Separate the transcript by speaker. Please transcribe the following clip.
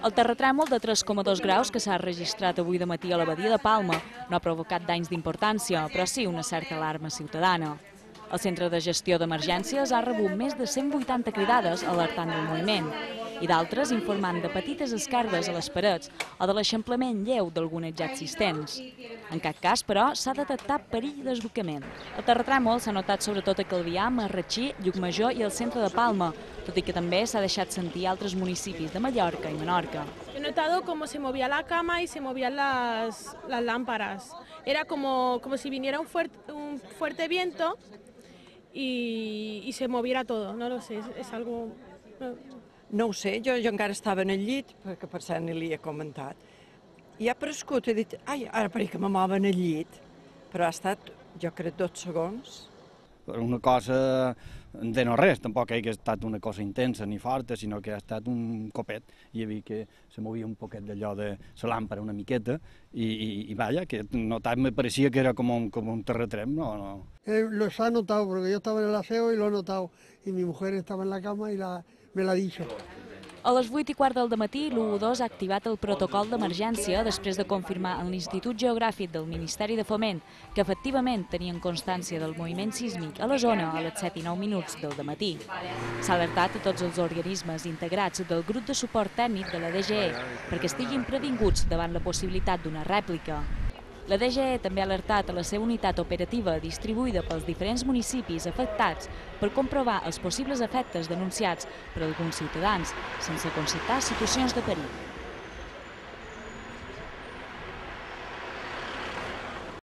Speaker 1: El terratrèmol de 3,2 graus que s'ha registrat avui de matí a la badia de Palma no ha provocat danys d'importància, però sí una certa alarma ciutadana. El Centre de Gestió d'Emergències ha rebut més de 180 cridades alertant del moviment i d'altres informant de petites esquerdes a les parets o de l'eixamplament lleu d'algunes ja existents. En cap cas, però, s'ha detectat perill de desbocament. El terratrèmol s'ha notat sobretot a Calvià, Marratxí, Llucmajor i el centre de Palma, tot i que també s'ha deixat sentir a altres municipis de Mallorca i Menorca.
Speaker 2: He notado cómo se movía la cama y se movían las lámparas. Era como si viniera un fuerte viento y se moviera todo, no lo sé, es algo...
Speaker 3: No ho sé, jo encara estava en el llit, perquè per cert ni li he comentat. I ha prescut, he dit, ai, ara pareix que me mova en el llit, però ha estat, jo crec, 2 segons.
Speaker 4: Una cosa de no res, tampoc ha estat una cosa intensa ni forta, sinó que ha estat un copet. Hi havia que se movia un poquet d'allò de la làmpara una miqueta y vaya, que notar me parecía que era como un terratrèmol, no.
Speaker 5: Los ha notado, porque yo estaba en el aseo y lo he notado, y mi mujer estaba en la cama y me l'ha dit.
Speaker 1: A les 8:15 del matí, l'U12 ha activat el protocol d'emergència després de confirmar en l'Institut Geogràfic del Ministeri de Foment que efectivament tenien constància del moviment sísmic a la zona a les 7:09 del dematí. S'ha alertat a tots els organismes integrats del grup de suport tècnic de la DGE perquè estiguin previnguts davant la possibilitat d'una rèplica. La DGE també ha alertat a la seva unitat operativa distribuïda pels diferents municipis afectats per comprovar els possibles efectes denunciats per alguns ciutadans, sense constatar situacions de perill.